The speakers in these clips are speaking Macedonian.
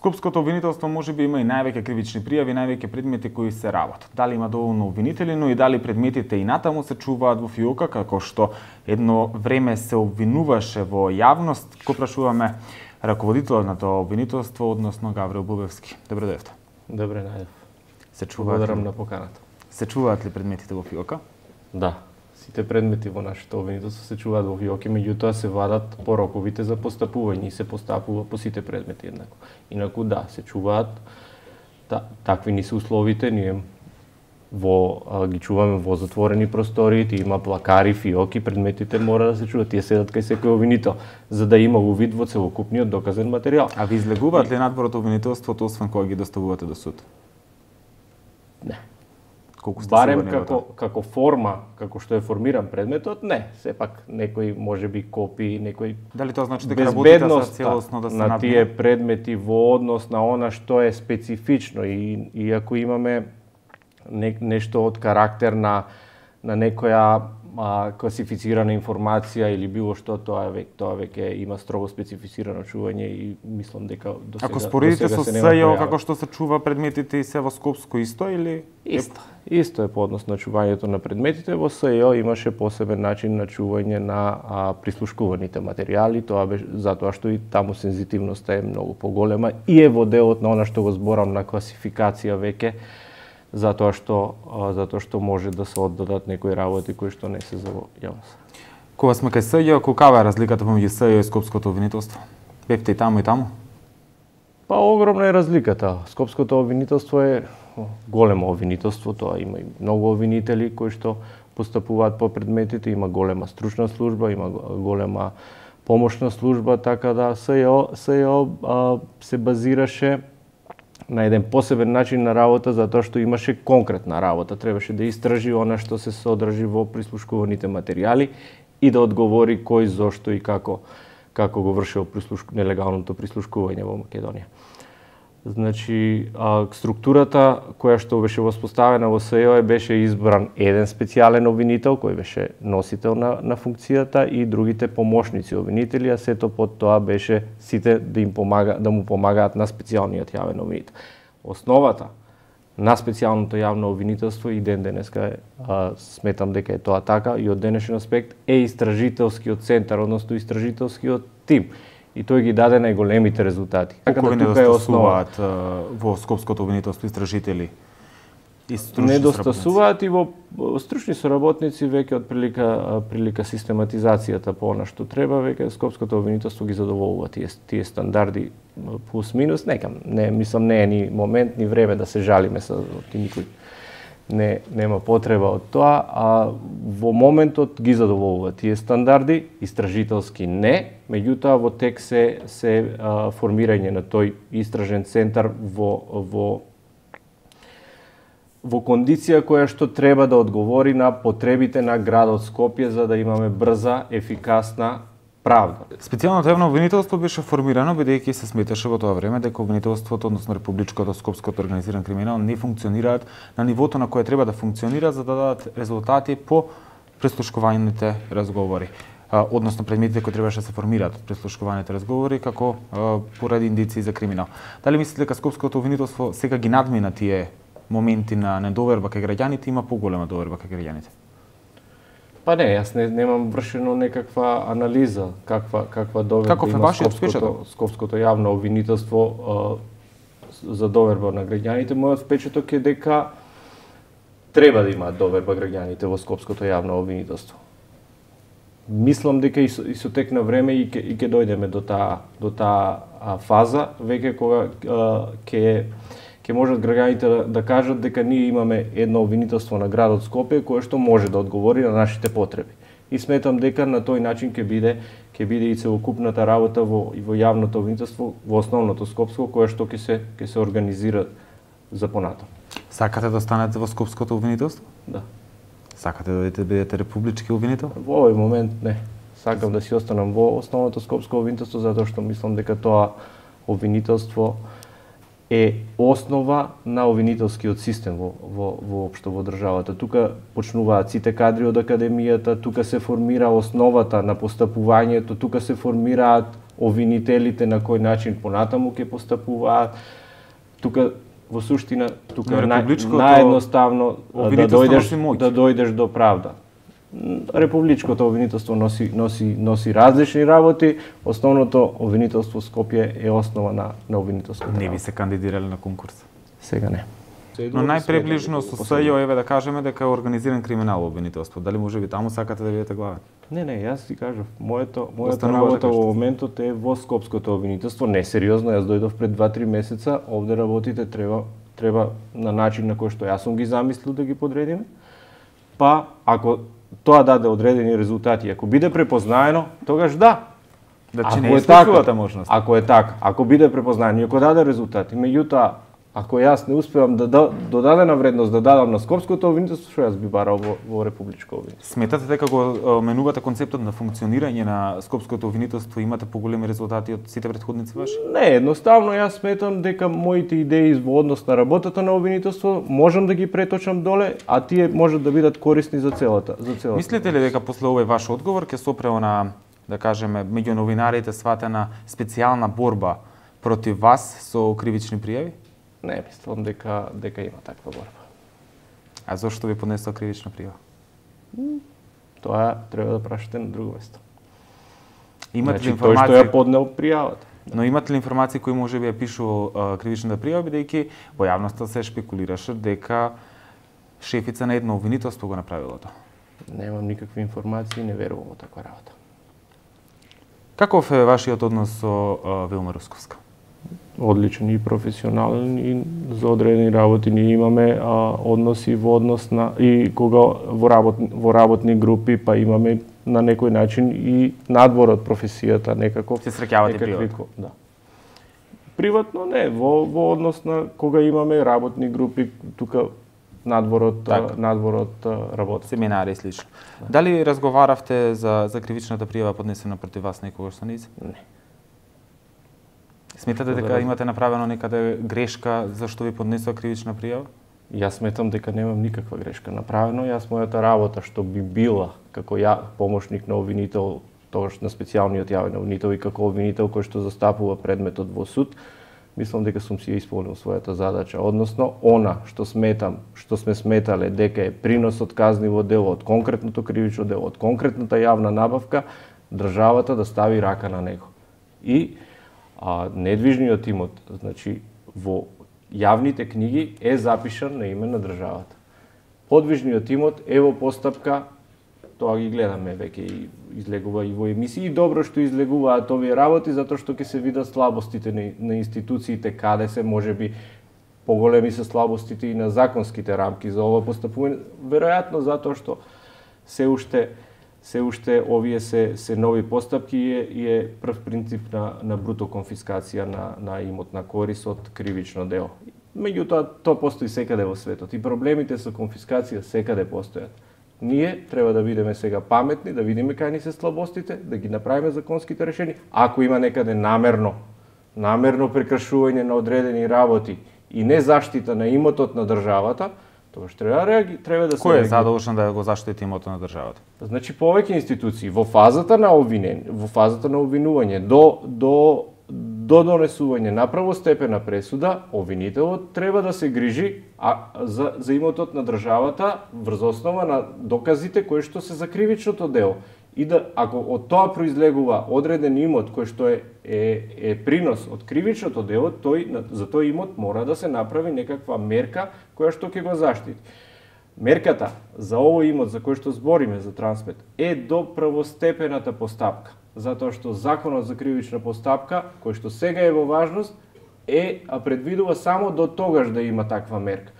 Скопското обвинителство можеби има и највеќе кривични пријави, највеќе предмети кои се работат. Дали има доволно обвинители, но и дали предметите и натаму се чуваат во фиока, како што едно време се обвинуваше во јавност, го прашуваме раководителот на тоа обвинителство, односно Гаврил Бубевски. Добро дојдовте. Добре најдов. Се чуваат Благодарам на поканата. Се чуваат ли предметите во фиока? Да. Сите предмети во нашето обвинителство се чуваат во фиоки, меѓутоа се вадат пороковите за постапување и се постапува по сите предмети еднакво. Инаку да, се чуваат, такви ни се условите, ние ги чуваме во затворени простори, има плакари, фиоки, предметите мора да се чуваат, тие седат кај секој обвинител, за да има увид во целокупниот доказен материјал. А ви излегуваат ли надвор од обвинителството, освен кога ги доставувате до суд? Не. Колку сте барем сигурни како форма, како што е формиран предметот, не. Сепак некој можеби копи, некој дали тоа значи дека работите за целосно да се на тие предмети во однос на она што е специфично и ако имаме нешто од карактер на некоја класифицирана информација или било што, тоа веќе има строго специфицирано чување и мислам дека до сега. Ако споредите со СЈО како што се чува предметите и се во Скопско исто или Исто е по однос на чувањето на предметите. Во СЈО имаше посебен начин на чување на прислушкуваните материјали, тоа беше затоа што и таму сензитивноста е многу поголема и е во делот на она што го зборам на класификација веќе, затоа што може да се оддадат некои работи кои што не се за јавност. Кога сме кај СЈО, каква е разликата помеѓу СЈО и Скопското обвинителство? Бевте и таму и таму? Па огромна е разликата. Скопското обвинителство е големо обвинителство, тоа има и многу обвинители кои што постапуваат по предметите, има голема стручна служба, има голема помошна служба, така да СЈО се базираше на еден посебен начин на работа, затоа што имаше конкретна работа. Требаше да истражи она што се содржи во прислушкуваните материјали и да одговори кој, зошто и како го вршил нелегалното прислушкување во Македонија. Значи, структурата која што беше воспоставена во СЈО беше избран еден специјален обвинител кој беше носител на функцијата и другите помошници обвинители, а сето под тоа беше сите да му помагаат на специјалниот јавен обвинител. Основата на специјалното јавно обвинителство и ден денеска сметам дека е тоа така и од денешен аспект е истражителскиот центар, односно истражителскиот тим. И тој ги даде најголемите резултати. Колку ви недостасуваат во Скопското обвинителство истражители и стручни недостасуваат и во стручни соработници веќе од прилика систематизацијата по она што треба, веќе Скопското обвинителство ги задоволува тие стандарди плюс минус, мислам не е ни момент ни време да се жалиме со никој. Нема потреба од тоа, а во моментот ги задоволува тие стандарди, истражителски не, меѓутоа во тек се формирање на тој истражен центар во кондиција која што треба да одговори на потребите на градот Скопје за да имаме брза, ефикасна правда. Специјалното јавно обвинителство беше формирано бидејќи се сметаше во тоа време дека обвинителството, односно републичкото, скопското организиран криминал не функционираат на нивото на кое треба да функционира за да дадат резултати по прислушкуваните разговори. Односно предметите кои требаше да се формираат од прислушкуваните разговори како поради индици за криминал. Дали мислите дека скопското обвинителство сега ги надмина тие моменти на недоверба кај граѓаните, има поголема доверба кај граѓаните? Па не, јас немам вршено некаква анализа каква доверба има скопското јавно обвинителство за доверба на граѓаните. Мојот впечаток е дека треба да имаат доверба граѓаните во скопското јавно обвинителство. Мислам дека и со тек на време и ќе дојдеме до таа фаза веќе кога ќе можат граѓаните да кажат дека ние имаме едно обвинителство на градот Скопје кое што може да одговори на нашите потреби. И сметам дека на тој начин ќе биде и целокупната работа во јавното обвинителство, во основното скопско кое што ќе се организира за понатаму. Сакате да останете во скопското обвинителство? Да. Сакате да бидете републички обвинител? Во овој момент не. Сакам да си останам во основното скопско обвинителство затоа што мислам дека тоа обвинителство е основа на обвинителскиот систем воопшто во државата. Тука почнуваат сите кадри од академијата, тука се формира основата на постапувањето, тука се формираат обвинителите на кој начин понатаму ќе постапуваат. Тука во суштина тука наједноставно да дојдеш до правда. Републичкото обвинителство носи различни работи, основното обвинителство Скопје е основа на обвинителското. Не би се кандидирале на конкурс? Сега не. Но најприближно со СЈО еве да кажеме дека е организиран криминал обвинителство. Дали можеби таму сакате да видите главен? Не, јас ти кажав, мојата работа во моментот е во Скопското обвинителство, не сериозно, јас дојдов пред 2-3 месеца, овде работите треба на начин на кој што јас сум ги замислил да ги подредиме. Па ако тоа даде одредени резултати, ако биде препознаено, тогаш да. Значи не е исклучувата можност. Ако е така, ако биде препознаено и ако даде резултати, меѓутоа ако јас не успевам да додадена вредност да дадам на Скопското обвинителство, што јас би барал во Републичко обвинителство. Сметате дека го менувате концептот на функционирање на Скопското обвинителство и имате поголеми резултати од сите претходници ваши? Не, едноставно јас сметам дека моите идеи во однос на работата на обвинителство можам да ги преточам доле, а тие можат да бидат корисни за целата. Мислите ли дека после овој ваш одговор ќе се опре на, да кажеме, меѓу новинарите сватена специјална борба против вас со кривични пријави? Не, мислам дека има таква борба. А зошто ви поднесла кривична пријава? Тоа треба да прашате на друго место. Имате ли информација? Тој што ја поднел пријавата. Но имате ли информации кои можеби ја пишува кривичната пријава, бидејќи во јавноста се шпекулираше дека шефица на едно обвинителство го направило тоа? Немам никакви информации, не верувам во таква работа. Каков е вашиот однос со Вилма Русковска? Одличен и професионален и за одредени работи ние имаме односи во однос на и кога во работни групи па имаме на некој начин и надвор од професијата некако. Се среќавате приватно? Да. Приватно не, во однос на кога имаме работни групи тука надвор од работа. Семинари и слично. Да. Дали разговаравте за кривичната пријава поднесена против вас некогаш со низ? Не. Сметате дека имате направено некаде грешка зашто ви поднесува кривична пријава? Јас сметам дека немам никаква грешка направено. Јас мојата работа што би била како помошник на обвинител, тогаш на специјалниот јавен обвинител и како обвинител кој што застапува предметот во суд, мислам дека сум си ја исполнил својата задача, односно она што сме сметале дека е принос од казниво дело, од конкретното кривично дело, од конкретната јавна набавка, државата да стави рака на него. И недвижниот имот, значи во јавните книги е запишан на име на државата. Подвижниот имот е во постапка, тоа ги гледаме веќе и излегува и во емисии, и добро што излегуваат овие работи затоа што ќе се видат слабостите на институциите, каде се можеби поголеми се слабостите и на законските рамки за ова постапување, веројатно затоа што се уште овие се нови постапки и е прв принцип на бруто конфискација на имотна корис од кривично дело. Меѓутоа, тоа постои секаде во светот и проблемите со конфискација секаде постојат. Ние треба да бидеме сега паметни, да видиме кај ни се слабостите, да ги направиме законските решени. Ако има некаде намерно прекршување на одредени работи и не заштита на имотот на државата, тогаш треба да се... Кој е задолжен да го заштити имотот на државата? Значи повеќе институции во фазата на обвинување до донесување на правостепена пресуда, обвинителот треба да се грижи за имотот на државата врз основа на доказите кои што се за кривичното дело. И ако од тоа произлегува одреден имот кој што е принос од кривичното дело, за тој имот мора да се направи некаква мерка која што ќе го заштити. Мерката за овој имот за кој што збориме за трансмет е до првостепената постапка, затоа што законот за кривична постапка, кој што сега е во важност, предвидува само до тогаш да има таква мерка.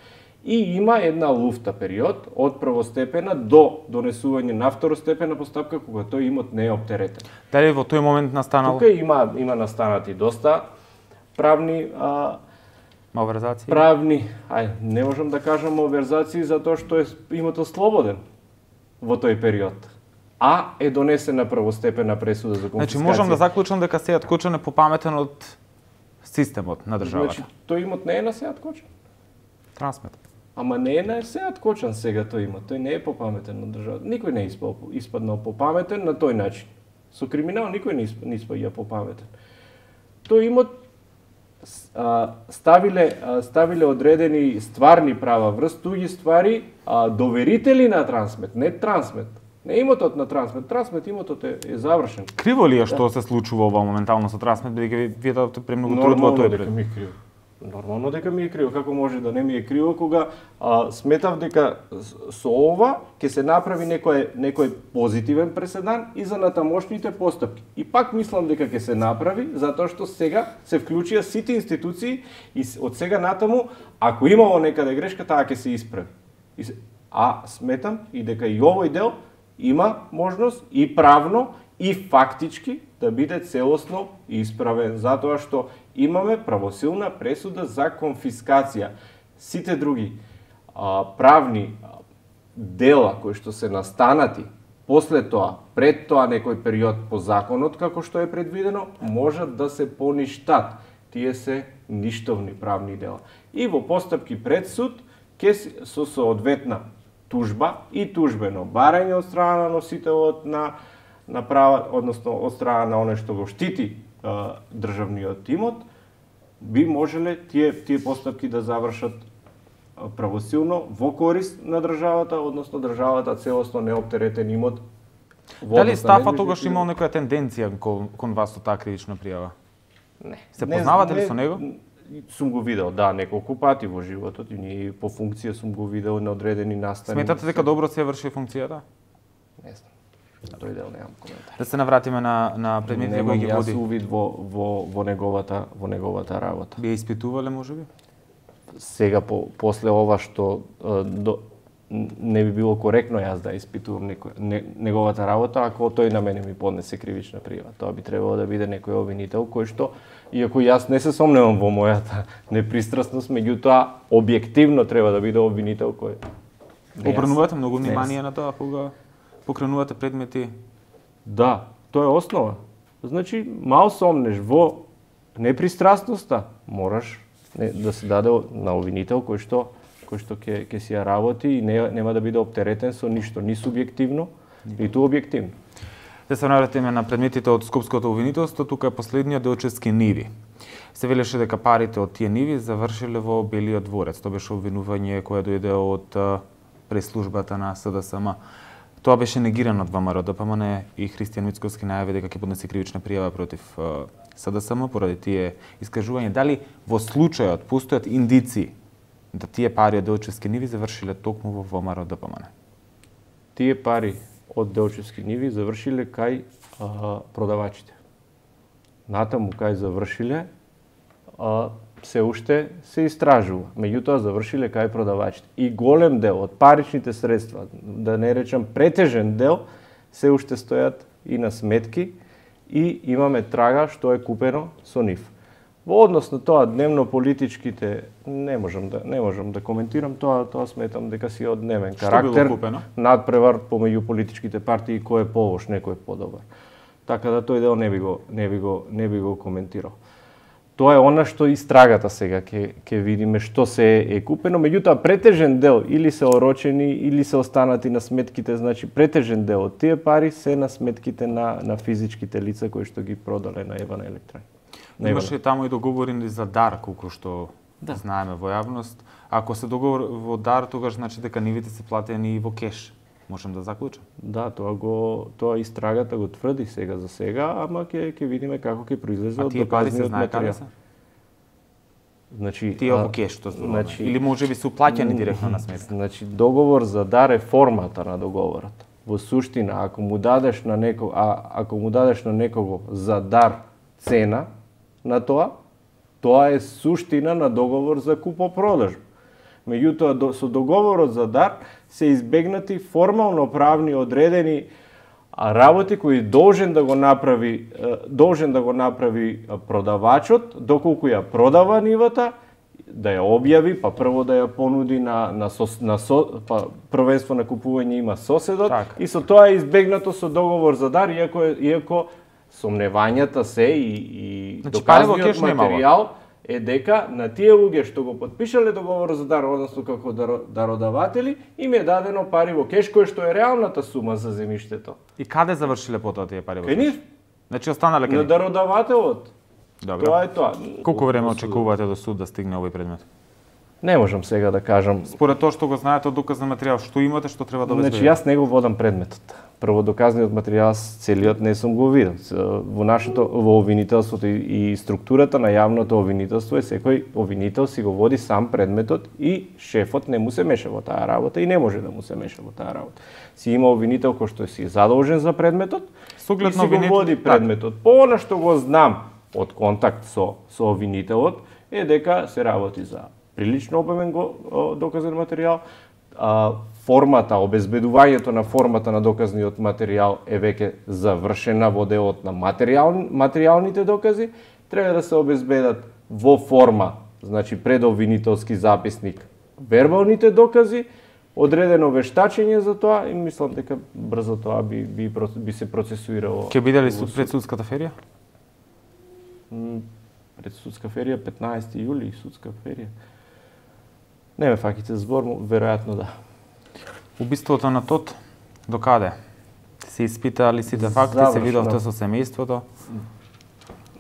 И има една луфта период од првостепена до донесување на второстепена постапка кога тој имот не е оптеретен. Дали во тој момент настанало? Тука има настанати доста правни малверзации. Не можам да кажам малверзации затоа што е имотот слободен во тој период. Е донесена првостепена пресуда за конфискација. Значи можам да заклучам дека Сејат Кочан е попаметен од системот на државата. Значи тој имот не е на Сејат Кочан. Трансмет. Ама не е на Сејат Кочан сега тој имот. Тој не е попаметен на државата. Никој не е испаднал попаметен на тој начин. Со криминал никој не испаѓа по паметен. Тој имот ставиле одредени стварни права врз туѓи ствари, доверители на Трансмет, не Трансмет. Не имотот на Трансмет. Трансмет имотот е завршен. Криво ли е што се случува ова моментално со Трансмет, бидејќи вие дадовте премногу труд во тој пред? Нормално дека ми е криво. Како може да не ми е криво кога сметав дека со ова ќе се направи некој позитивен преседан и за натамошните постапки. И пак мислам дека ќе се направи затоа што сега се вклучија сите институции и од сега натаму ако имало некаде грешка таа ќе се исправи. А сметам и дека и овој дел има можност и правно и фактички да биде целосно исправен, затоа што имаме правосилна пресуда за конфискација. Сите други правни дела кои што се настанати после тоа, пред тоа некој период по законот како што е предвидено, можат да се поништат. Тие се ништовни правни дела. И во постапки пред суд ќе со соодветна тужба и тужбено барање од страна на носителот на права, односно од страна на оној што го штити државниот имот, би можеле тие постапки да завршат правосилно во корист на државата, односно државата целосно неоптеретен имот. Дали Стафа тогаш имал некоја тенденција кон вас со таа кривична пријава? Не. Се познавате ли со него? Сум го видел, да, неколку пати во животот и ние по функција сум го видел на одредени настани. Сметате дека добро се врши функцијата? Не знам. На тој дел немам коментар. Да се навратиме на предметите кои ги води. Немам јас увид во неговата работа. Би ја испитувале можеби? Сега после ова што не би било коректно јас да испитувам неговата работа ако тој на мене ми поднесе кривична пријава. Тоа би требало да биде некој обвинител кој што, иако јас не се сомневам во мојата непристрасност, меѓутоа објективно треба да биде обвинител кој обрнувате многу внимание на тоа кога покренувате предмети? Да, тоа е основа. Значи, мал сомнеш во непристрасноста, мораш да се даде на обвинител кој што ќе си ја работи и нема да биде оптеретен со ништо, ни субјективно, ниту објективно. Да се навратиме на предметите од Скопското обвинителство, тука е последниот Делчевски ниви. Се велеше дека парите од тие ниви завршиле во Белиот дворец. Тоа беше обвинување кое дојде од преслужбата на СДСМ. Тоа беше негирано од ВМРО-ДПМН и Христијан Мицковски најави дека ќе поднесе кривична пријава против СДСМ поради тие искажувања. Дали во случајот постојат индиции да тие пари од Делчевски ниви завршиле токму во ВМРО-ДПМН? Тие пари од Делчевски ниви завршиле кај продавачите. Натаму кај завршиле се уште се истражува. Меѓутоа завршиле кај продавачите. И голем дел од паричните средства, да не речам претежен дел, се уште стојат и на сметки и имаме трага што е купено со нив. Во однос на тоа дневно политичките не можам да коментирам тоа сметам дека си однемен карактер. Што било купено? Надпревар помеѓу политичките партии кој е полош, некој е подобар. Така да тој дел не би го коментирал. Тоа е она што истрагата сега ќе видиме што се е купено, меѓутоа претежен дел или се орочени или се останати на сметките, значи претежен дел од тие пари се на сметките на физичките лица кои што ги продале на Евана Електрон. Имаше таму и договорени за дар, колку што знаеме во јавност. Ако се договор во дар, тогаш значи дека нивите се платени и во кеш. Можам да заклучам? Да, тоа истрагата го тврди сега за сега, ама ќе видиме како ќе произлезе од доказниот материјал. Значи тие во кеш што зборуваме, или можеби се уплаќани директно на сметка. Значи договор за дар е формата на договорот. Во суштина, ако му дадеш на некого за дар цена на тоа е суштина на договор за купо-продажба. Меѓутоа, со договорот за дар се избегнати формално правни одредени работи кои должен да го направи продавачот, доколку ја продава нивата, да ја објави, па прво да ја понуди па првенство на купување има соседот, так. И со тоа е избегнато со договор за дар, иако сомневањата се и значи, доказниот материјал е дека на тие луѓе што го потпишале договорот за дар, односно како дародаватели, им е дадено пари во кеш, кој што е реалната сума за земјиштето. И каде завршиле потоа тие пари во Кај кеш? нив? Значи останале кај На нив? дародавателот. Добро. Тоа е тоа. Колку време очекувате до суд да стигне овој предмет? Не можам сега да кажам. Според тоа што го знаете од доказен материјал, што имате, што треба да Значи, обезбедите? јас не го водам предметот. Прво, доказниот материјал целиот не сум го видел. Во обвинителството и структурата на јавното обвинителство е секој обвинител си го води сам предметот и шефот не му се меша во таа работа и не може да му се меша во таа работа. Си има обвинител кој што си е задолжен за предметот и си го води предметот. По она што го знам од контакт со обвинителот е дека се работи за прилично обемен доказен материјал. Формата, обезбедувањето на формата на доказниот материјал е веќе завршена во делот на материјалните докази. Треба да се обезбедат во форма, значи предобвинителски записник, вербалните докази, одредено вештачење за тоа и мислам дека брзо тоа би се процесуирало. Ќе биде ли пред судската ферија? Пред судска ферија 15 јули судска ферија. Не ме факите збор, веројатно да. Убиството на Тот, до каде? Се испитали сите факти, се видовте со семејството?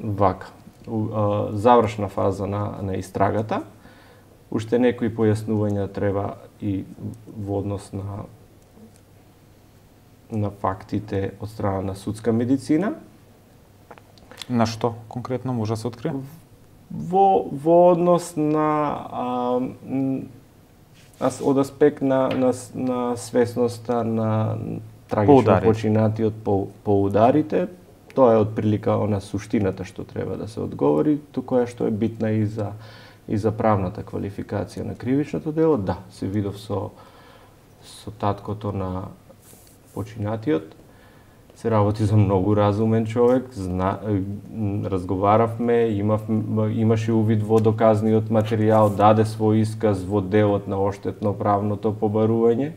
Вака. Завршна фаза на истрагата. Уште некои појаснувања треба и во однос на фактите од страна на судска медицина. На што конкретно може да се открие? Во однос од аспект на свесноста на трагично починатиот по ударите, тоа е отприлика она суштината што треба да се одговори, која што е битна и за правната квалификација на кривичното дело. Да, се видов со таткото на починатиот. Се работи за многу разумен човек, разговаравме, имаше увид во доказниот материјал, даде свој исказ во делот на оштетно правното побарување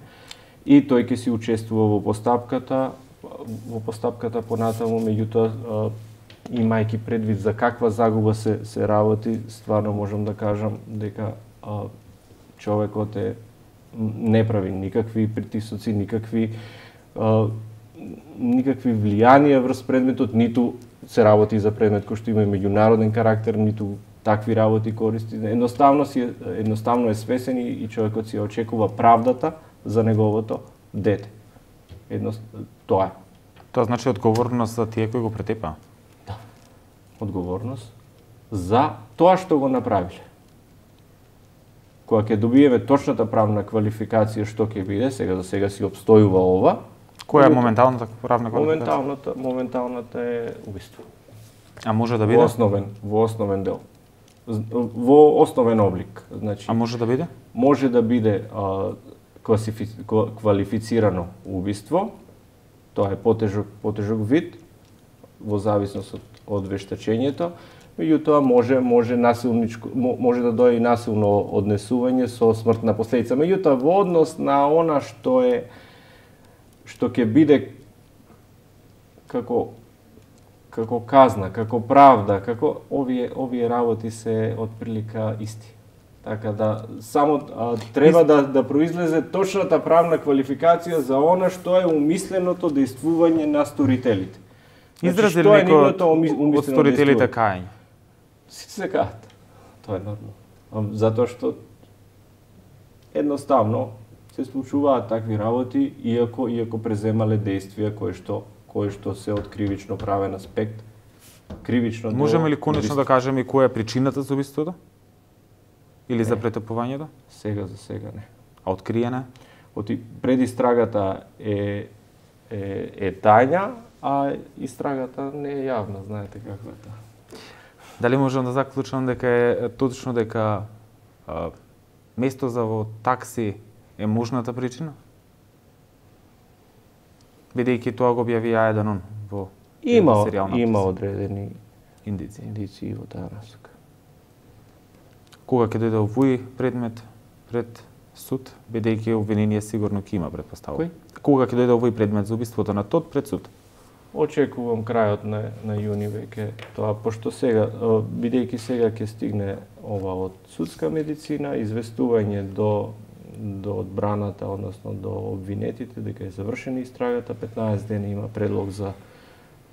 и тој ќе си учествува во постапката понатаму, меѓутоа имајќи предвид за каква загуба се работи, стварно можам да кажам дека човекот не прави никакви притисоци, никакви влијанија врз предметот, ниту се работи за предмет кој што има меѓународен карактер, ниту такви работи користи. Едноставно е свесен и човекот си очекува правдата за неговото дете. Тоа е. Тоа значи одговорност за тие кои го претепаа? Да. Одговорност за тоа што го направиле. Кога ќе добиеме точната правна квалификација што ќе биде, сега за сега си обстојува ова. Која е моменталната правна квалификација? Моменталната е убиство. А може да биде? Во основен дел. Во основен облик. Значи, а може да биде? Може да биде квалифицирано убиство. Тоа е потежок вид во зависност од вештачењето. Меѓутоа може да дојде и насилно однесување со смртна последица. Меѓутоа во однос на она што ќе биде како казна, како правда, како овие работи се отприлика исти. Така да само треба да произлезе точната правна квалификација за она што е умисленото дејствување на сторителите. Изрази ли некој од сторителите кајање? Сите се каат. Тоа е нормално. Затоа што едноставно се случуваат такви работи, иако преземале действија кои што се од кривично правен аспект. Кривично дело. Можеме ли конечно да кажеме која е причината за убиството? Или за претопувањето? Сега за сега не. А откриена? Предистрагата е тајна, а истрагата не е јавна, знаете каква е тоа. Дали можам да заклучам дека е точно дека место за во такси е можната причина? Бидејќи тоа го објавија еден во серијалната. Има одредени индици во таа насока. Кога ќе дојде овој предмет пред суд, бидејќи обвинение сигурно ќе има предпоставка. Кој? Кога ќе дојде овој предмет за убиството на Тот пред суд? очекувам крајот на јуни веќе тоа, пошто сега, бидејќи сега ќе стигне ова од судска медицина, известување до одбраната, односно до обвинетите дека е завршена истрагата, 15 дена има предлог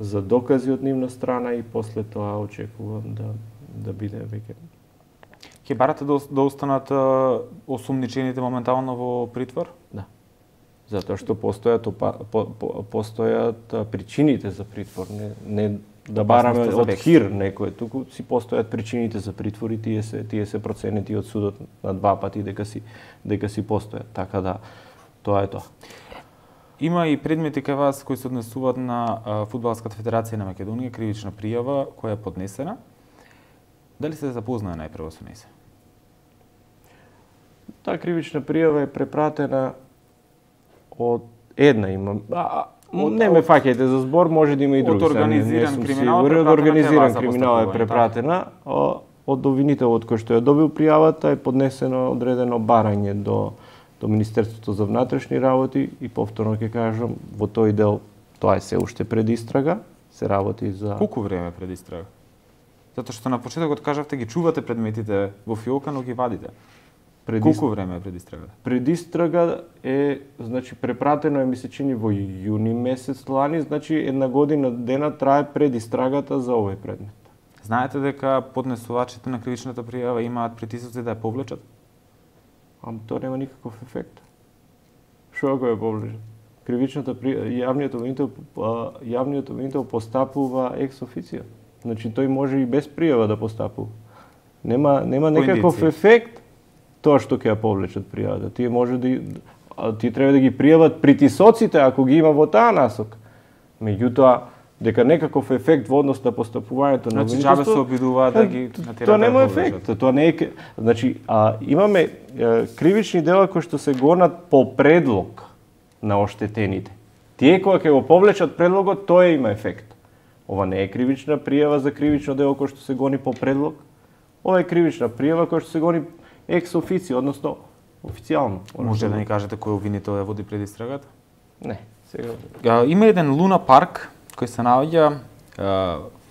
за докази од нивна страна и после тоа очекувам да биде веќе. Ќе барате да останат осумничените моментално во притвор? Да. Затоа што постојат причините за притвор, не да бараме од хир некој, туку си постојат причините за притвор и тие се проценети од судот на 2 пати дека си постојат, така да тоа е тоа. Има и предмети кај вас кои се однесуваат на Фудбалската федерација на Македонија, кривична пријава која е поднесена. Дали се запознае најпрво со неја? Таа кривична пријава е препратена од една има. Не ме фаќајте за збор, може да има и други. Од организиран криминал, е препратена. Од обвинителот кој што ја добил пријавата е поднесено одредено барање до Министерството за внатрешни работи и повторно ќе кажам, во тој дел тоа е се уште пред истрага, се работи за... Колку време пред истрага? Затоа што на почетокот кажавте ги чувате предметите во фиолка, но ги вадите. Колку време е пред истрагата? Пред истрага е, значи, препратено е, ми се чини, во јуни месец лани, значи, 1 година дена трае пред истрагата за овој предмет. Знаете дека поднесувачите на кривичната пријава имаат притисоци да ја повлечат? Тоа нема никаков ефект. Што ако ја повлечат? Кривичната пријава, јавниот обвинител постапува екс официо. Значи, тој може и без пријава да постапува. Нема некаков ефект тоа што ќе ја повлечат пријавата. Тие треба да ги пријават притисоците ако ги има во таа насока. Меѓутоа, дека некаков ефект во однос на постапувањето на обвинителство... Значи, се обидуваат да ги натерат. Тоа нема ефект. Тоа не е... Значи, имаме кривични дела кои што се гонат по предлог на оштетените. Тие кои ќе го повлечат предлогот, тоа има ефект. Ова не е кривична пријава за кривично дело кој што се гони по предлог. Ова е кривична пријава кој што се гони екс официо, односно официјално. Може да ни кажете кој обвинител ја води пред истрагата? Не, сега. Има еден Луна парк кој се наоѓа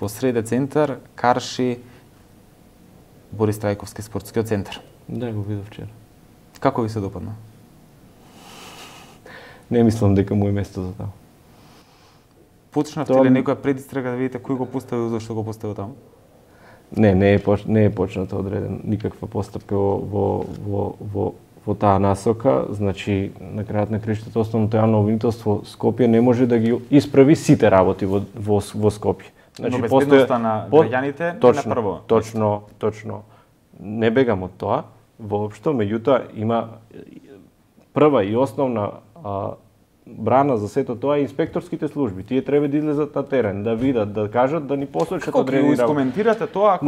во среде центар, карши Борис Трајковски спортскиот центар. Да, го видов вчера. Како ви се допадна? Не мислам дека му е место за таму. Почнавте ли некоја предистрага да видите кој го поставил, зашто го поставил таму? Не е почната одреден никаква постапка во таа насока. Значи, на крајот на краиштата основното јавно обвинителство Скопје не може да ги исправи сите работи во Скопје. Значи, но безбедноста на граѓаните е на прво. Точно. Не бегам од тоа, воопшто, меѓутоа има прва и основна брана за сето тоа е инспекторските служби. Тие треба да излезат на терен, да видат, да кажат, да ни посочат одредени работи. Како коментирате тоа ако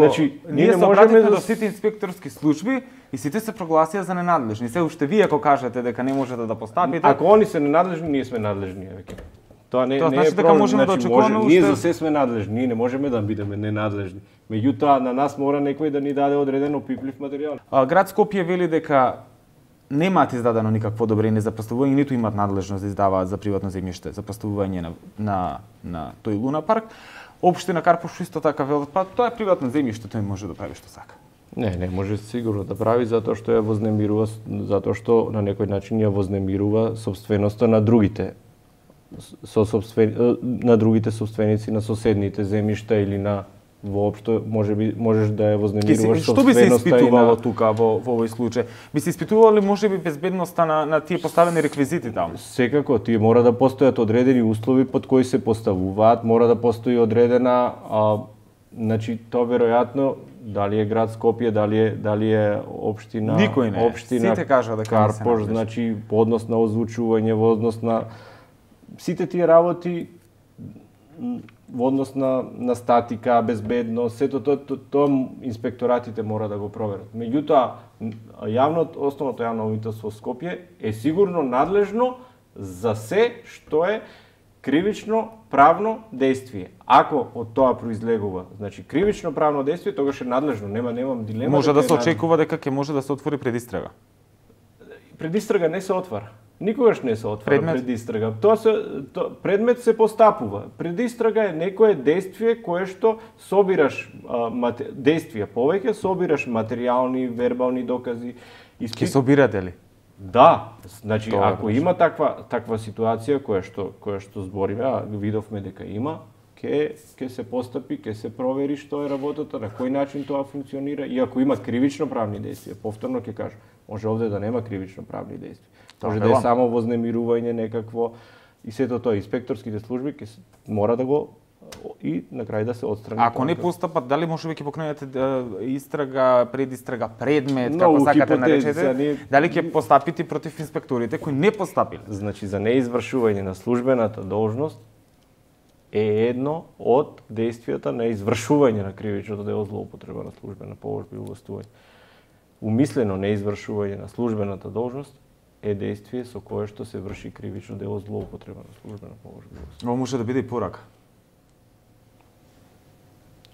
ние се обратите до сите инспекторски служби и сите се прогласија за ненадлежни? Се уште вие ако кажете дека не можете да постапите. Ако они се ненадлежни, ние сме надлежни веќе. Тоа не значи е дека можеме да очекуваме ние за се сме надлежни, ние не можеме да бидеме ненадлежни. Меѓутоа на нас мора некој да ни даде одреден опиплив материјал. Град Скопје вели дека немаат издадено никакво одобрение за поставување, ниту имаат надлежност да издаваат за приватно земјиште за поставување на тој Луна парк. Општина Карпош исто така велат, па тоа е приватно земјиште, тој може да прави што сака. Не може сигурно да прави затоа што ја вознемирува, затоа што на некој начин ја вознемирува собственоста на другите на другите собственици на соседните земјишта или на воопшто можеш да ја вознемируваш собственоста. Што би се испитувало тука во овој случај? Би се испитувало ли можеби безбедноста на тие поставени реквизити таму? Секако, тие мора да постојат одредени услови под кои се поставуваат, мора да постои одредена значи тоа веројатно дали е град Скопје, дали е општина, никој не. Општина сите кажа дека Карпош, значи по однос на озвучување, во однос на сите тие работи во однос на статика, безбедност, сето тоа инспекторатите мора да го проверат. Меѓутоа, основното јавно обвинителство Скопје е сигурно надлежно за се што е кривично правно дејствие. Ако од тоа произлегува, значи кривично правно дејствие, тогаш е надлежно, немам дилема. Може да се очекува дека ќе може да се отвори предистрага. Предистрага не се отвара. Никогаш не се отвара пред истрага. Предмет се постапува. Пред истрага е некое действие кое што собираш действија повеќе, собираш материјални, вербални докази. Ке собирате ли? Да, значи ако има таква ситуација која што збориме, видовме дека има, ќе се постапи, ќе се провери што е работата, на кој начин тоа функционира и ако има кривично правни действија, повторно ќе кажам, може овде да нема кривично правни действија. Може да е само вознемирување некакво и сето тоа инспекторските служби ќе мора да го и на крај да се отстрани. Ако не постапат, дали може веќе покренете истрага, предистрага, предмет, како сакате наречете, дали ќе постапите против инспекторите кои не постапиле? Значи за неизвршување на службената должност е едно од действијата на извршување на кривичното дело злоупотреба на службена положба и увластување. Умислено неизвршување на службената должност е действие со кое што се врши кривично дело злоупотреба на службена положба. Ова може да биде и порака.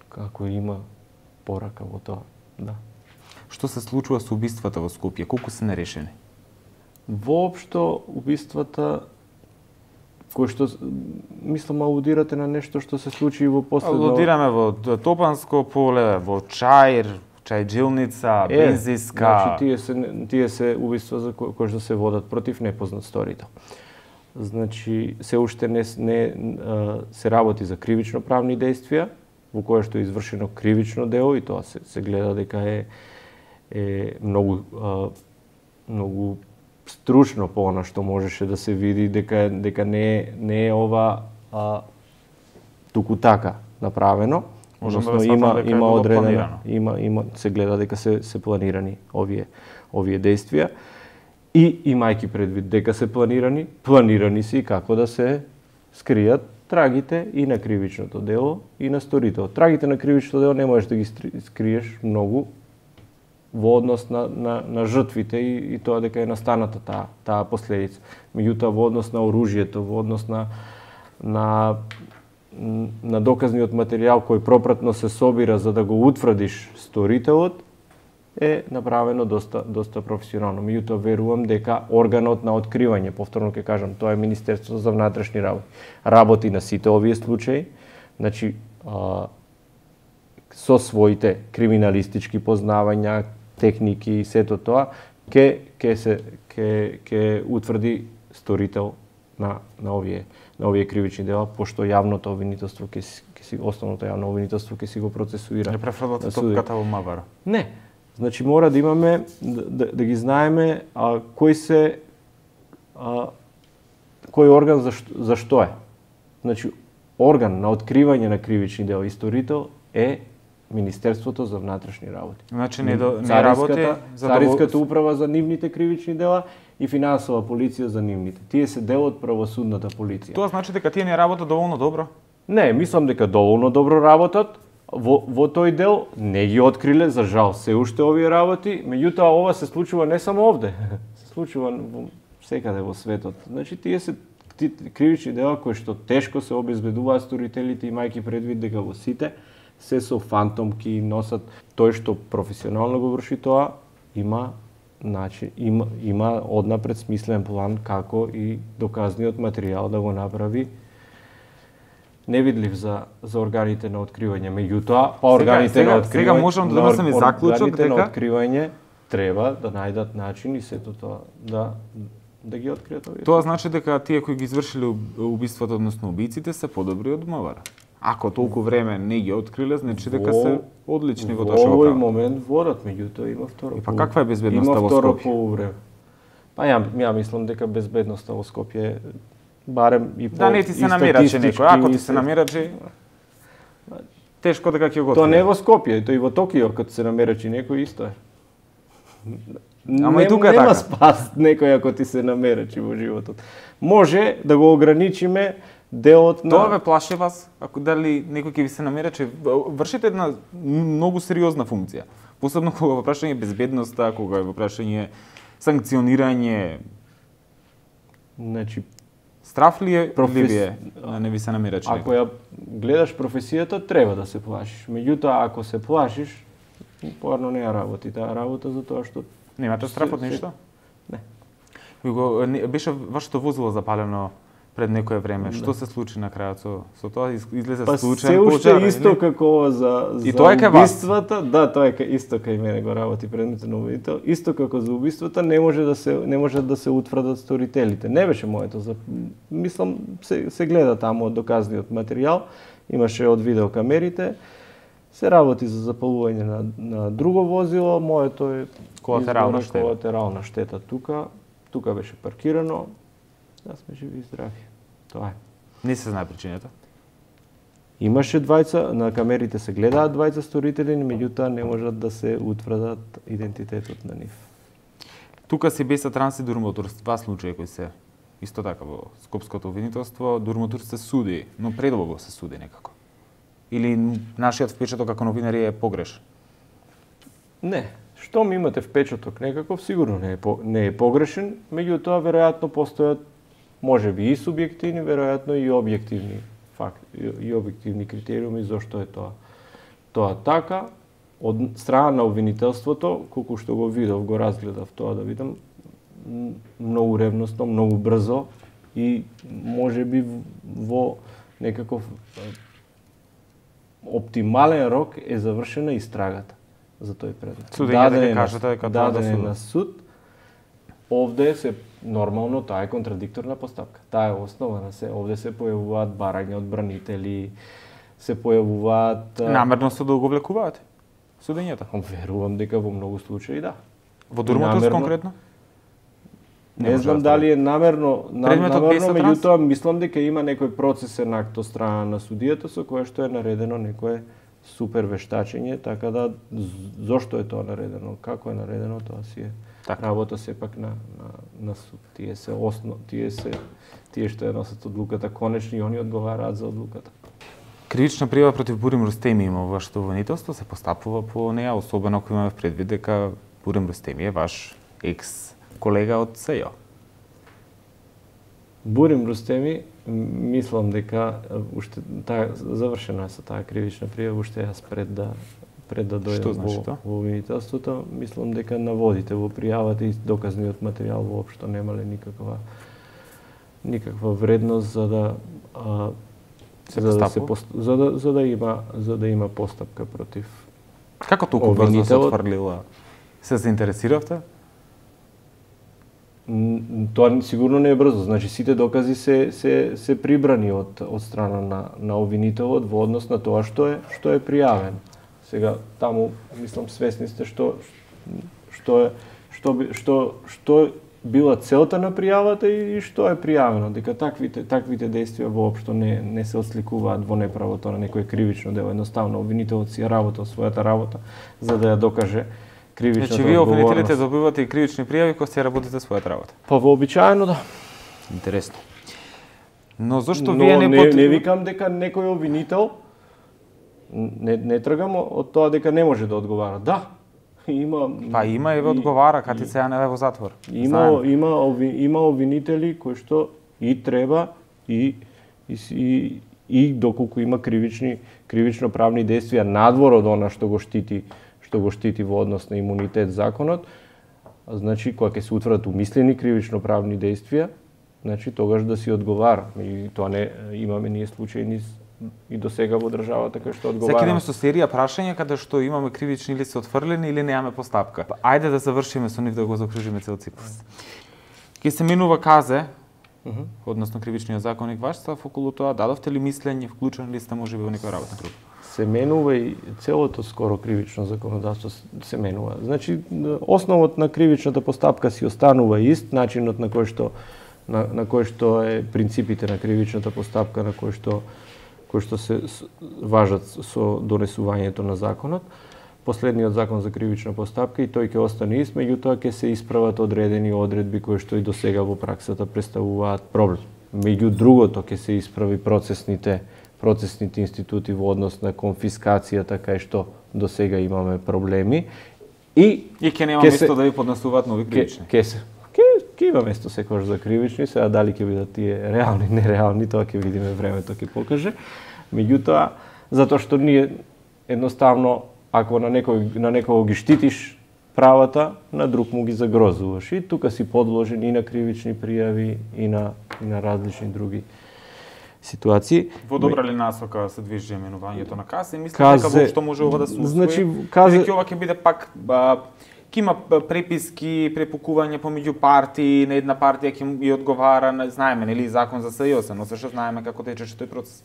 Како има порака во тоа, да. Што се случува со убиствата во Скопје? Колку се нерешени? Воопшто убиствата кој што мислам алудирате на нешто што се случи во последно. Алудираме во Топанско поле, во Чаир, Чајджилница, Бензиска. Значи тие се убиства за кои што се водат против непознат сторител. Значи се уште не се работи за кривично правни действија во кое што е извршено кривично дело и тоа се гледа дека е многу стручно по она што можеше да се види дека не е ова туку така направено. Односно има одредено, има се гледа дека се планирани овие действија и имајќи предвид дека се планирани се и како да се скријат трагите и на кривичното дело и на сторител. Трагите на кривичното дело не можеш да ги скриеш многу во однос на жртвите и тоа дека е настаната таа последица. Меѓутоа во однос на оружјето, во однос на доказниот материјал кој пропратно се собира за да го утврдиш сторителот е направено доста професионално. Меѓутоа верувам дека органот на откривање, повторно ќе кажам, тоа е Министерството за внатрешни работи на сите овие случаи, значи со своите криминалистички познавања, техники и сето тоа ќе утврди сторител на овие кривични дела, пошто јавното обвинителство основното јавно обвинителство ќе си го процесуира. Не префрлате топката во Мавара? Не. Значи мора да имаме да ги знаеме кој орган за што е. Значи орган на откривање на кривични дела и сторител е Министерството за внатрешни работи. Значи не работи Царинската управа за нивните кривични дела и финансова полиција за нивните. Тие се дел од правосудната полиција. Тоа значи дека тие не работат доволно добро? Не, мислам дека доволно добро работат. Во тој дел не ги откриле, за жал, се уште овие работи, меѓутоа ова се случува не само овде, се случува секаде во светот. Значи тие се кривични дела кои што тешко се обезбедуваат сторителите, имајќи предвид дека во сите се со фантомки носат. Тој што професионално го врши тоа, има однапред смислен план како и доказниот материјал да го направи невидлив за органите на откривање. Меѓутоа, органите на откривање, сега можам да донесеме заклучок дека на откривање треба да најдат начин и сето тоа да ги откријат овие. Тоа значи дека тие кои ги извршиле убиството, односно убиците, се подобри од Мавара. Ако толку време не ги откриле, значи дека се одлични во тоа што го прават. Во овој момент водат, меѓутоа има второ. Па каква е безбедноста во Скопје? Има второ полувреме. Па ја мислам дека безбедноста во Скопје барем и по не ти се намирачи некој, ако ти се намирачи тешко дека ќе го Тоа не во Скопје, тоа и во Токио кога се намирачи некој исто е. Ама и тука е така. Нема спас некој ако ти се намирачи во животот. Може да го ограничиме делот на... Тоа ве плаши вас, ако дали некој ќе ви се намирачи, вршите една многу сериозна функција. Посебно кога во прашање безбедноста, кога во прашање санкционирање. Значи, страф ли е или вие не ви се намирачи? Ако ја гледаш професијата, треба да се плашиш. Меѓутоа, ако се плашиш, поарно не ја работи таа работа за тоа што... Немате страф од ништо? Не. Беше вашето возило запалено пред некое време. Што се случи на крајот со тоа? Излезе случаен пожар? Се уште исто како за убиствата. Да, тоа е исто кај мене го работи предметот на обвинител. Исто како за убиствата не може да се утврдат сторителите. Не беше моето. Мислам се гледа таму од доказниот материјал. Имаше од видеокамерите. Се работи за запалување на друго возило. Моето е колатерална штета тука. Тука беше паркирано. Да сме живи и здрави. Тоа е. Не се знае причината? Имаше двајца, на камерите се гледаат двајца сторители, меѓутоа не можат да се утврдат идентитетот на нив. Тука си беса Транс и Дурмотурс, два случаи кои се исто така во скопското обвинителство. Дурмотурс се суди, но предолго се суди некако. Или нашиот впечаток како новинари е погрешен? Не. Штом имате впечаток некаков, сигурно не е погрешен, меѓутоа веројатно постојат можеби и субјективни, веројатно и објективни факти, и објективни критериуми зошто е тоа. Тоа така, од страна на обвинителството, колку што го видов, го разгледав тоа да видам, многу ревносно, многу брзо и можеби во некаков оптимален рок е завршена истрагата за тој предмет. Судењето ќе кажете дека тоа даден е на суд. Овде се нормално таа е контрадикторна постапка. Таа е основа на се. Овде се појавуваат барања од бранители, се појавуваат намерно се да го влекуваат судењето. Верувам дека во многу случаи да. Во Дурмотурс конкретно? Не знам дали е намерно, меѓутоа мислам дека има некој процесен акт од страна на судијата со кое што е наредено некое супер вештачење, така да зошто е тоа наредено, како е наредено, тоа си е работа сепак на суд. Тие што ја носат одлуката конечно и они одговараат за одлуката. Кривична пријава против Бурим Рустеми има во вашето обвинителство, се постапува по неа, особено ако имаме предвид дека Бурим Рустеми е ваш екс колега од СЈО. Бурим Рустеми, мислам дека уште завршена е со таа кривична пријава, уште јас пред да дојдам во обвинителството, мислам дека наводите во пријавата и доказниот материјал воопшто немале никаква вредност за да има постапка против. Како толку брзо се отфрлила? Се заинтересиравте? Тоа сигурно не е брзо. Значи сите докази се прибрани од страна на обвинителот во однос на тоа што е пријавен. Сега таму мислам свесни сте што била целта на пријавата и што е пријавено, дека таквите действија воопшто не се отсликуваат во неправото на некој кривично дело. Едноставно обвинителот си работел својата работа за да ја докаже кривичната одговорност. Значи вие обвинителите добивате и кривични пријави кога си работите својата работа. Па вообичаено да. Интересно. Но зошто вие не викам дека некој обвинител не тргам од тоа дека не може да одговара. Да. Има и ве одговара, кати се ја не во затвор. Има обвинители кои што и треба и доколку има кривично правни действија надвор од она што го штити во однос на имунитет законот, значи кога ќе се утврдат умислени кривично правни действија, значи тогаш да си одговара. И тоа не имаме ние случаи и до сега во државата кај што одговара. Сега идеме со серија прашања каде што имаме кривични или се отфрлени или немаме постапка. Ајде да завршиме со нив да го закружиме цел цикус. Ке се менува казе, односно кривичниот законник ваш став околу тоа, дадовте ли мислење, вклучени ли сте можеби во некоја работна група? Се менува и целото скоро кривично законодавство се менува. Значи основот на кривичната постапка си останува ист, начинот на кој што е принципите на кривичната постапка на кој што се важат со донесувањето на законот. Последниот закон за кривична постапка и тој ќе остане ист, меѓутоа ќе се исправат одредени одредби кои што и досега во праксата представуваат проблем. Меѓу другото ќе се исправи процесните институти во однос на конфискацијата кај што досега имаме проблеми и ќе нема место да ви поднесуваат нови кривични. Ќе има место секогаш за кривични, сега дали ќе бидат тие реални, нереални, тоа ќе видиме, времето ќе покаже. Меѓутоа, затоа што ние едноставно ако на некого ги штитиш правата на друг му ги загрозуваш. И тука си подложен и на кривични пријави и на различни други ситуации. Во добра ли насока се движи именувањето на КАЗЕ? Мислам дека воопшто може ова да се усвои. Значи КАЗЕ ова ќе биде пак ќе има преписки, препукување помеѓу партии, на една партија ќе ја одговара, знаеме нели закон за СЈОС, но се што знаеме како течеше тој процес.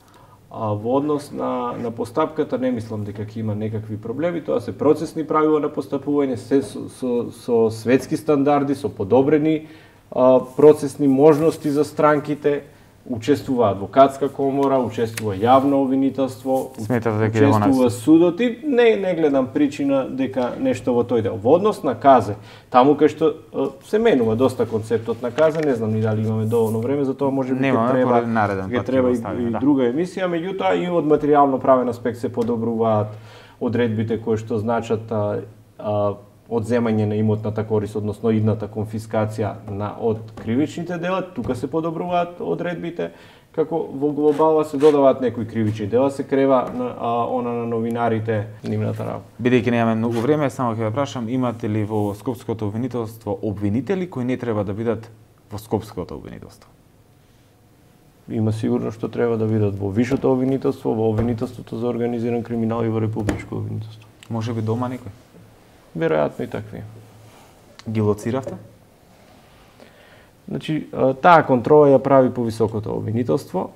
Во однос на постапката не мислам дека ќе има некакви проблеми, тоа се процесни правила на постапување, се со светски стандарди, со подобрени процесни можности за странките. Учествува адвокатска комора, учествува јавно обвинителство, учествува судот и не гледам причина дека нешто во тој дел. Во однос на КАЗЕ, таму кај што се менува доста концептот на КАЗЕ, не знам ни дали имаме доволно време, за тоа може би ќе треба и друга емисија, меѓутоа и од материјално правен аспект се подобруваат одредбите кои што значат одземање на имотната корист, односно идната конфискација од кривичните дела, тука се подобруваат одредбите, како во глобала се додаваат некои кривични дела, се крева на новинарите нивната работа. Бидејќи немаме многу време, само ќе ве прашам, имате ли во Скопското обвинителство обвинители кои не треба да бидат во Скопското обвинителство? Има сигурно што треба да бидат во Вишото обвинителство, во обвинителството за организиран криминал и во Републичко обвинителство. Може би дома некој? Веројатно и такви. Ги лоциравте? Значи, таа контрола ја прави по високото обвинителство.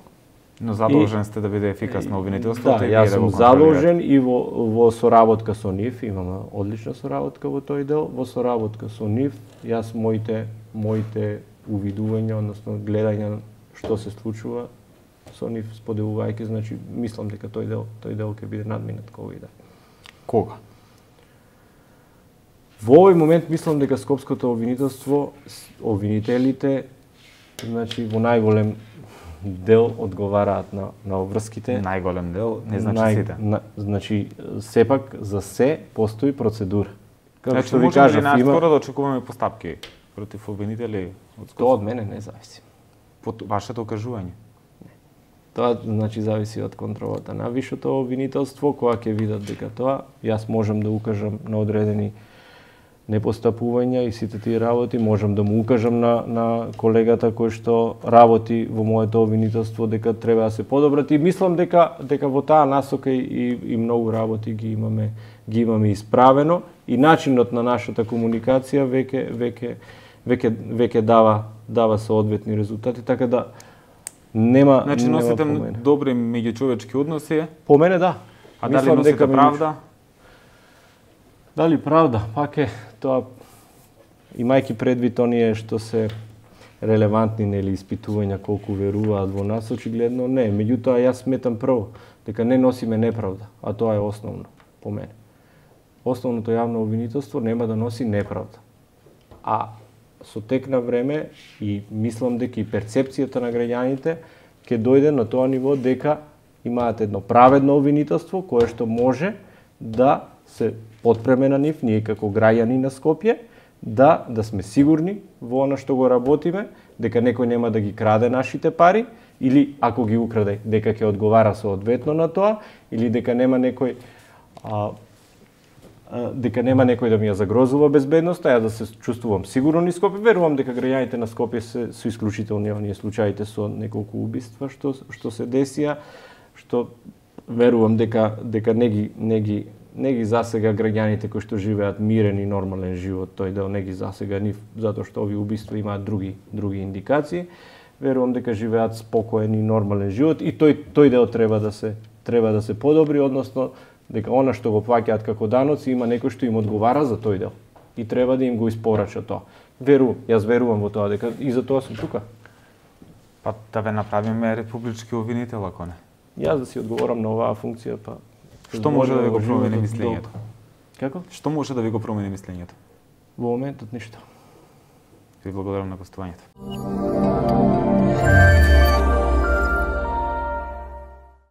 Но задолжен сте да биде ефикасно обвинителството? Да, јас сум задолжен и во соработка со нив, имаме одлична соработка во тој дел, во соработка со нив, јас моите увидувања, односно гледање што се случува со нив споделувајќи, значи мислам дека тој дел ќе биде надминат кога иде. Кога? Во овој момент мислам дека Скопското обвинителство, обвинителите, значи во најголем дел одговараат на обврските. Најголем дел, не значи сите. Значи сепак за се постои процедура. Како што ви кажав, наскоро да очекуваме постапки против обвинители од Скопско? Тоа од мене не зависи. Под вашето окажување? Не. Тоа значи зависи од контролата на Вишото обвинителство, кога ќе видат дека тоа јас можам да укажам на одредени непостапувања и сите тие работи, можам да му укажам на колегата кој што работи во моето обвинителство дека треба да се подобрат и мислам дека во таа насока и многу работи ги имаме исправено и начинот на нашата комуникација веќе дава соодветни резултати, така да нема. Значи носите добри меѓучовечки односи? По мене да. А дали носите правда? Дали правда? Пак е тоа, имајќи предвид оние што се релевантни нели испитувања колку веруваат во нас, очигледно не. Меѓутоа јас сметам прво дека не носиме неправда, а тоа е основно по мене. Основното јавно обвинителство нема да носи неправда. А со тек на време и мислам дека и перцепцијата на граѓаните ќе дојде на тоа ниво дека имаат едно праведно обвинителство кое што може да се потпреме на нив, ние како граѓани на Скопје, да сме сигурни во она што го работиме, дека некој нема да ги краде нашите пари, или ако ги украде, дека ќе одговара соодветно на тоа, или дека нема некој да ми ја загрозува безбедноста, ја да се чувствувам сигурно низ Скопје. Верувам дека граѓаните на Скопје се исклучителни оние случаите со неколку убиства што се десија, што верувам дека не ги засега граѓаните кои што живеат мирен и нормален живот, тој дел не ги засега нив, затоа што овие убиства имаат други индикации. Верувам дека живеат спокоен и нормален живот и тој дел треба да се подобри, односно дека она што го плаќаат како даноци има некој што им одговара за тој дел и треба да им го испорача тоа. Јас верувам во тоа дека и за тоа сум тука. Па да ве направиме републички обвинител, ако не? Јас да си одговорам на оваа функција, па што може да ви го промени мислењето? Како? Што може да ви го промени мислењето? Во моментот ништо. Ви благодарам на гостувањето.